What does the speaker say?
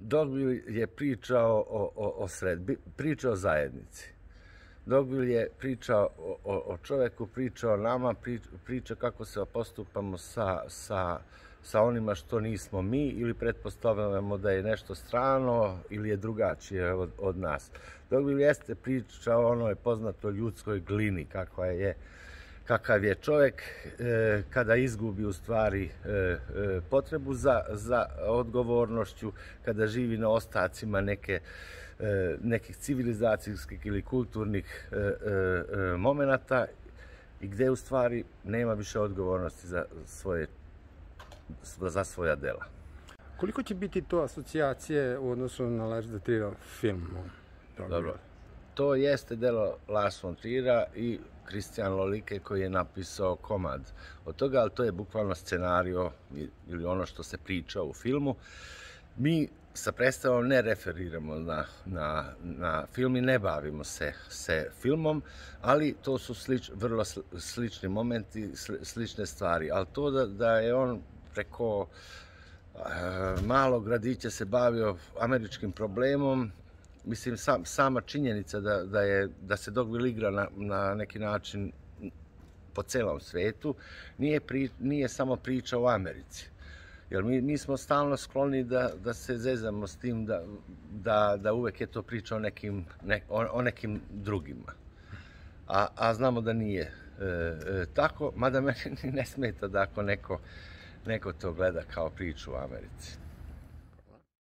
Dogville je pričao pričao o zajednici. Dogville je pričao o čovjeku, pričao o nama, priča kako se postupamo sa onima što nismo mi ili pretpostavljamo da je nešto strano ili je drugačije od nas. Dogville jeste priča o onoj poznatoj ljudskoj glini, kakav je čovjek kada izgubi u stvari potrebu za odgovornošću, kada živi na ostacima nekih civilizacijskih ili kulturnih momenata i gdje u stvari nema više odgovornosti za svoja dela. Koliko će biti to asocijacije u odnosu na Lars von Trierov film? Dobro. To jeste delo Lars von Triera i Christian Lolike koji je napisao komad od toga, ali to je bukvalno scenario ili ono što se priča u filmu. Mi sa predstavom ne referiramo na film i ne bavimo se filmom, ali to su vrlo slični momenti, slične stvari. Ali to da je on preko malog gradića se bavio američkim problemom, mislim, sama činjenica da se Dogville igra na neki način po celom svetu, nije samo priča o Americi. Jer mi smo stalno skloni da se zezamo s tim da uvek je to priča o nekim drugima. A znamo da nije tako, mada meni ne smeta da ako neko to gleda kao priču o Americi.